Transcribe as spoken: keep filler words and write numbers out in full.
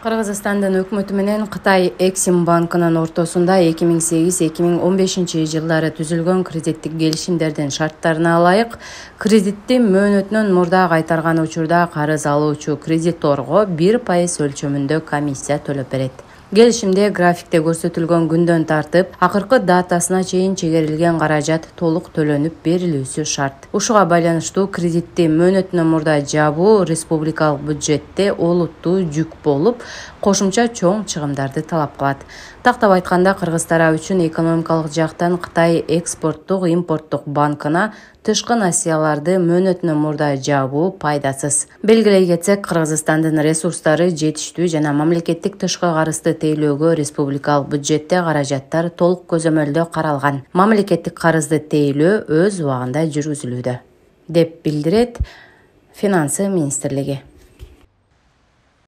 Кыргызстандын өкмөтү менен Кытай Эксим банкынын ортосунда эки миң сегиз — эки миң он бешинчи жылдары түзүлгөн кредиттик келишимдердин шарттарына ылайык кредитти мөөнөтүнөн мурда кайтарган учурда карыз алуучу кредиторго бир пайыз өлчөмүндө комиссия төлөп берет. Келишимде графикте көрсөтүлгөн күндөн тартып акыркы датасына чейин чегерилген каражат толук төлөнүп берилүүсү шарт. Ушуга байланыштуу кредитти мөөнөтүнөн мурда жабуу республикалык бюджетте олуттуу жүк болуп, кошумча чоң чыгымдарды талап кылат. Тактап айтканда, кыргыз тарап үчүн экономикалык жактан Кытай экспорттук импорттук банкына тышкы насыяларды мөөнөтүнөн мурда жабуу пайдасыз. Белгилей кетсек, Кыргызстандын ресурстары жетиштүү жана мамлекеттик тышкы карызды тейлөөгө республикалык бюджетте каражаттар толук көзөмөлдө каралган. Мамлекеттик карызды тейлөө өз убагында жүргүзүлүүдө, деп билдирет Финансы министрлиги.